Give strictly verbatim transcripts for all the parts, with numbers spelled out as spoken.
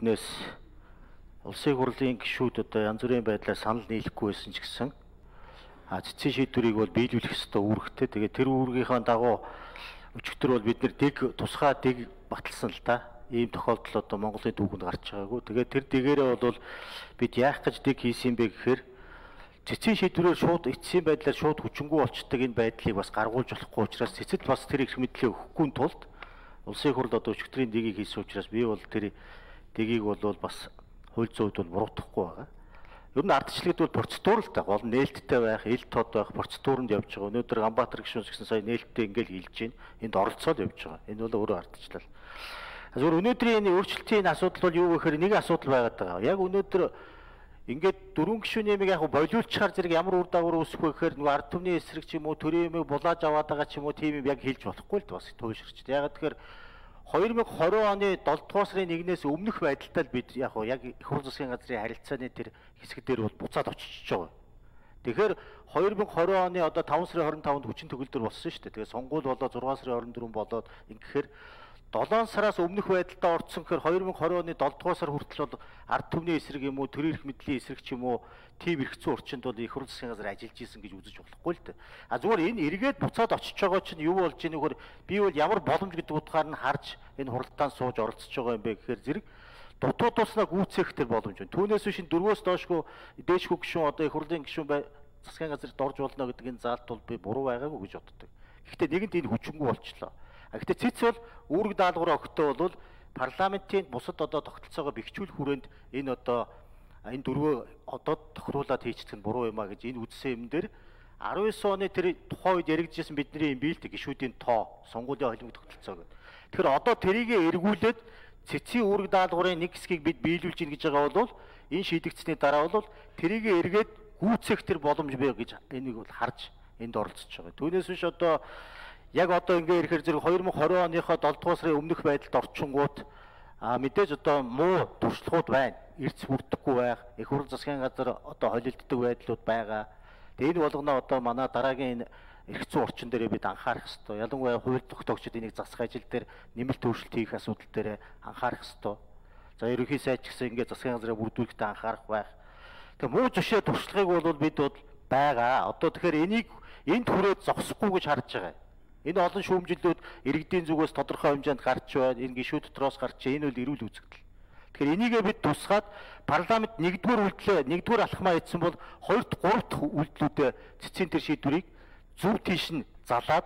үүднээс улсын хурлын гишүүд одоо янз бүрийн байдлаар санал нийлэхгүй байсан ч гэсэн а цэцгийн шийдвэрийг бол биелүүлэх ёстой үүрэгтэй. Тэгээд тэр үүргийнхаа дагуу өчигдөр бол бид нэр дэг тусгай дэг баталсан л да. Ийм тохиолдол одоо Монголын түүхэнд гарч байгаагүй. Тэгээд тэр дэгээрээ бол бид яах гэж дэг хийсэн бэ гэхээр цэцгийн шийдвэрээр шууд эцсийн байдлаар шууд хүчингү болчдөг энэ байдлыг бас гаргуулж болохгүй учраас цэцэд бас тэр их мэдлээ өгөхгүй тулд улсын хурл одоо өчигдрийн дэгийг хийсэн учраас би бол тэр дэгийг бол бас хууль зүйд бол буруутгахгүй байгаа. Ер нь ардчилгэд бол процедур л та гол нээлттэй байх, ил тод байх процедуранд явж байгаа. Өнөөдөр Ганбаатар гишүүнс гэсэн сая нээлттэй ингээл хэлж байна. Энд оролцоод явж байгаа. Энэ бол өөрөө ардчлал. Зүгээр өнөөдрийн энэ өөрчлөлтийн асуудал бол юу гэхээр нэг асуудал байгаад байгаа. Яг өнөөдөр ингээд дөрвөн гишүүний нэмийг яг болиулчихаар зэрэг ямар үр дагавар үүсэх вэ гэхээр нөгөө ард түмний эсрэг ч юм уу төрийн нэмийг булааж аваад байгаа ч юм уу тийм юм яг хэлж болохгүй л бас туйлширч. Яг тэгэхээр хоёр мянга двадцать оны долоо дугаар сарын нэгнээс өмнөх байдалтай л бид яг яг их хурлын засгийн газрын харилцааны тэр хэсэг дээр бол буцаад очиж байгаа. Тэгэхээр хоёр мянга двадцать оны одоо таван сарын хорин таванд хүчин төгөлдөр болсон шүү дээ. Тэгээ сонгуул болоод зургаан сарын орон дөрөв болоод ингэхээр долоон сараас өмнөх байдалтай орцсон гэхээр хоёр мянга двадцать оны долоо дугаар сар хүртэл бол ард түмний эсрэг юм уу, төрийн эрх мэдлийн эсрэг ч юм уу, тийм эрхцэн орчинд бол их хурлын засгийн газар ажиллаж исэн гэж үзэж болохгүй л дээ. А зүгээр энэ эргээд буцаад очиж байгаа чинь юу болж ийнэ гэхээр би бол ямар боломж гэдэг утгаар нь харж энэ хуралдаан сууж оролцож байгаа юм бэ гэхээр зэрэг дутуу туснаа гүйцээх тэр боломж байна. Түүнээс биш дөрвөөс доошгүй дээшгүй гишүүн одоо их хурлын гишүүн бай засгийн газарт орж болно гэдэг энэ заалт бол би буруу байгаагүй гэж боддог. Гэхдээ нэгэнт энэ хүчингү болчлоо. Гэхдээ цэц бол үүрэг даалгавраа өгөхдөө бол парламентийн бусад одоо тогтолцоогоо бэхжүүлэх хүрээнд энэ одоо энэ дөрвөө одоо тохируулаад хийчихдэг нь буруу юм а гэж энэ үдсэн юм дээр арван девять оны тэр тухайн үед яригдчихсэн бидний юм биэлдэг гишүүдийн тоо сонгуулийн холимог тогтолцоо гэдэг. Тэгэхээр одоо тэрийгэ эргүүлээд цэцгийн үүрэг даалгаврын нэг хэсгийг бид биелүүлж гин гэж байгаа бол энэ шийдэгдсэний дараа бол тэрийгэ эргээд гүйцэх тэр боломж бай гэж энийг бол харж энд оролцож байгаа. Түүнээс биш одоо яг одоо ингээ ирэхээр зэрэг хоёр мянга двадцать оныхоо долоо дугаар сарын өмнөх байдалд орчингууд а мэдээж одоо муу туршлагууд байна. Эрц бүрдэхгүй байх, их хурлын засгийн газар одоо холилддог байдлууд байгаа. Тэгээ энэ болгоно одоо манай дараагийн эрхцэн орчин дээр бид анхаарах хэрэгтэй. Ялангуяа хууль тогтоогчид энийг засах ажил дээр нэмэлт өөрчлөлт хийх асуудал дээр анхаарах хэрэгтэй. За ерөнхий сайд ч гэсэн ингээ засгийн газраа бүрдүүлэхдээ анхаарах байх. Тэгээ муу жишээ туршлагыг бол бид бол байгаа. Одоо тэгэхээр энийг энд хүрээд зогсохгүй гэж харж байгаа. Энэ олон шүүмжлэлүүд иргэдийн зүгээс тодорхой хэмжээнд гарч байна. Энэ гишүүд дотроос гарч байна. Энэ бол эрүүл үзэгдэл. Тэгэхээр энийгээ бид тусгаад парламент нэгдүгээр үйлдэлээ нэгдүгээр алхмаа хийсэн бол хоёрт гуравт үйлдэлүүдээ цэцгийн тэр шийдвэрийг зөв тийш нь залаад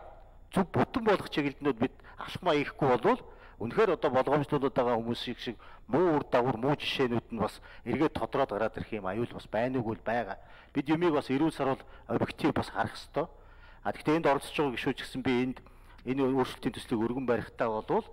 зөв бүтэн болгох чиглэлнүүд бид алхмаа хийхгүй болвол үнэхээр одоо болгоомжлуулаад байгаа хүмүүс шиг шиг муу үр дагавар муу жишээнүүд нь бас эргээд тодроод гараад ирэх юм аюул бас байна уу байгаа. Бид юмыг бас эрүүл сарвал объектив бас харах хэрэгтэй. А тэгэхээр энд оролцож байгаа гишүүч гэсэн би энд энэ өөрчлөлтийн төслийг өргөн барихтаа болвол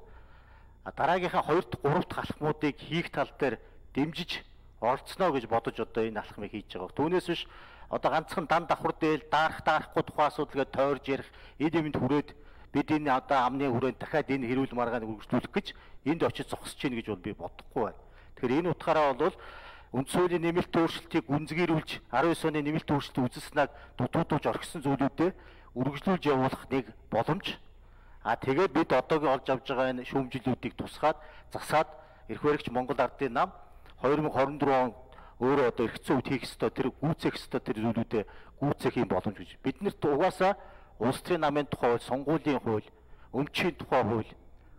дараагийнхаа хоёрт гуравт алхмуудыг хийх тал дээр дэмжиж оролцсноо гэж бодож одоо энэ алхмыг хийж байгаа. Түүнээс биш одоо ганцхан дан давхар дээл даарах даарахгүй тухайн асуудал гэж тойрж ярих эд юмд хүрээд бид энэ одоо амны хүрээнд дахиад энэ хэрүүл маргааныг үргэлжлүүлэх гэж энд очиж зогсож гин гэж бол би бодохгүй байна. Тэгэхээр энэ утгаараа бол үндс хуулийн нэмэлт өөрчлөлтийг гүнзгийрүүлж арван девять оны нэмэлт өөрчлөлт үзүүлснээр дутуудуулж орхисон зүйлүүдээ үргэлжлүүлж явуулах нэг боломж. А тэгээд бид одоогийн олж авж байгаа энэ шүүмжлэлүүдийг тусгаад засаад эрх баригч Монгол Ардын нам хоёр мянга двадцать дөрөв он өөрөө одоо эрхцэн үд хийх ёстой тэр гүйцэх ёстой тэр зүйлүүдээ гүйцэх юм боломж гэж. Биднэрт угаасаа улс төрийн намын тухай хууль, сонгуулийн хууль, өмчийн тухай хууль,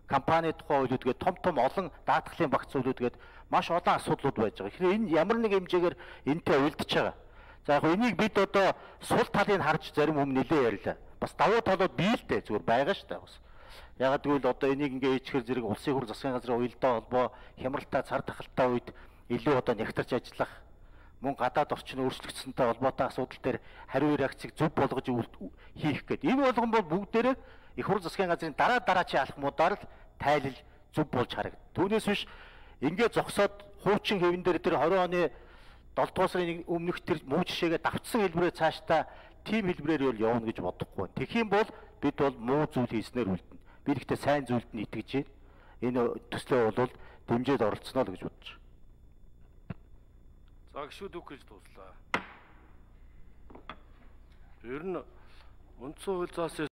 компани тухай хуулиуд гээд том том олон даатгалын багц зүйлүүд гээд маш олон асуудлууд байж байгаа. Тэгэхээр энэ ямар нэг хэмжээгээр энтэй уялдаж байгаа. За яг энийг бид одоо сул талыг харж зарим өмнө нэлээ ярьлаа. Бас давуу талууд бий л дээ зүгээр байгаа шүү дээ бас. Ягаад гэвэл одоо энийг ингээ ичгэр зэрэг улсын хурлын засгийн газрын уялдаа холбоо хямралтай цар тахалтай үед илүү одоо нягтарч ажиллах мөн гадаад орчин өөрчлөгдсөнтэй холбоотой асуудал дээр хариу реакцийг зөв болгож хийх гэдэг. Энэ болгон бол бүгдээрээ их хурлын засгийн газрын дараа дараачийн алхмуудаар л тайлал зөв болж харагд. Түүнээс биш ингээ зогсоод хуучин хэвэн дээр тэр двадцать оны долоо дугаар сарын өмнөх тэр муу жишээгээ давтсан хэлбэрээр цаашдаа тийм хэлбэрээр бол явна гэж бодохгүй. Тэгэх юм бол бид бол муу зүйл хийснээр үлдэнэ. Бид ихтэй сайн зүйлд нь итгэж энэ төслөө бол дэмжиж оролцсноо л гэж бодож. За гişүүд үг гэж дуслаа. Ер нь үндсэн хууль заасан